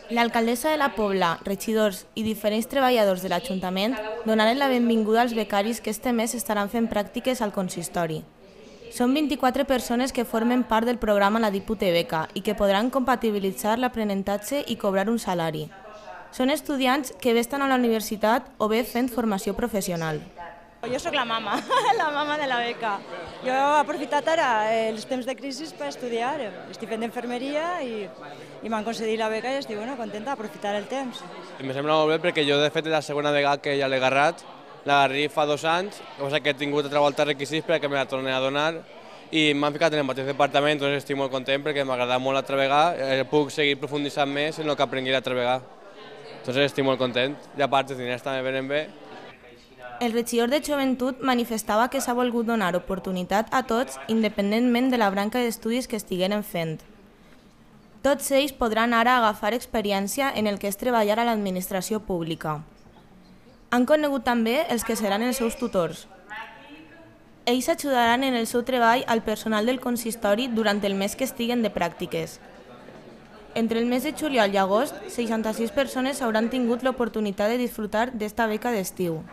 L'alcaldessa de la Pobla, regidors i diferents treballadors de l'Ajuntament donaren la benvinguda als becaris que este mes estaran fent pràctiques al consistori. Són 24 persones que formen part del programa La Dipute Beca i que podran compatibilitzar l'aprenentatge i cobrar un salari. Són estudiants que bé estan a la universitat o bé fent formació professional. Jo sóc la mama, la mama de la beca. Jo he aprofitat ara els temps de crisi per estudiar. Estic fent d'infermeria i m'han concedit la beca i estic contenta d'aprofitar el temps. Em sembla molt bé perquè jo de fet és la segona vegada que ja l'he agarrat. L'agarré fa 2 anys, cosa que he tingut altra volta requisits perquè me la torni a donar i m'han ficat en el mateix departament, doncs estic molt content perquè m'ha agradat molt l'altra vegada, puc seguir profunditzant més en el que aprengui l'altra vegada. Doncs estic molt content i a part els diners també venen bé. El regidor de Joventut manifestava que s'ha volgut donar oportunitat a tots independentment de la branca d'estudis que estigueren fent. Tots ells podran ara agafar experiència en el que és treballar a l'administració pública. Han conegut també els que seran els seus tutors. Ells ajudaran en el seu treball al personal del consistori durant el mes que estiguen de pràctiques. Entre el mes de juliol i agost, 66 persones hauran tingut l'oportunitat de disfrutar d'esta beca d'estiu.